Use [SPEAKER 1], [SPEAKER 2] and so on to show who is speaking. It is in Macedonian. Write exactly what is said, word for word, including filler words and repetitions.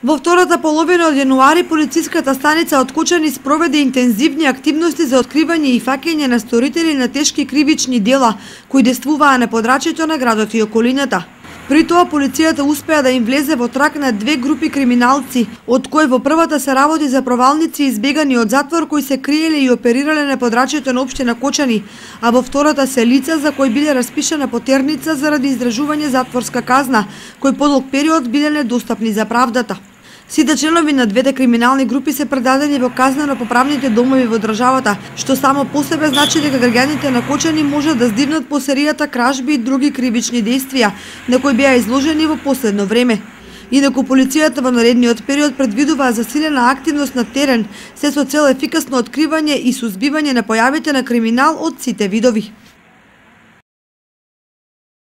[SPEAKER 1] Во втората половина од јануари, полициската станица од Кочани спроведе интензивни активности за откривање и фаќање на сторители на тешки кривични дела, кои действуваа на подрачјето на градот и околината. При тоа полицијата успеа да им влезе во трак на две групи криминалци, од кои во првата се работи за провалници избегани од затвор кои се криеле и оперирале на подрачјето на општина Кочани, а во втората се лица за кои биле распишана потерница заради издржување затворска казна, кои подолг период биле недостапни за правдата. Сите членови на двете криминални групи се предадени во казнено-поправните домови во државата, што само по себе значи дека граѓаните на Кочани можат да здивнат по серијата кражби и други кривични дејствија на кои беа изложени во последно време. Инаку полицијата во наредниот период предвидува засилена активност на терен, се со цел ефикасно откривање и сузбивање на појавите на криминал од сите видови.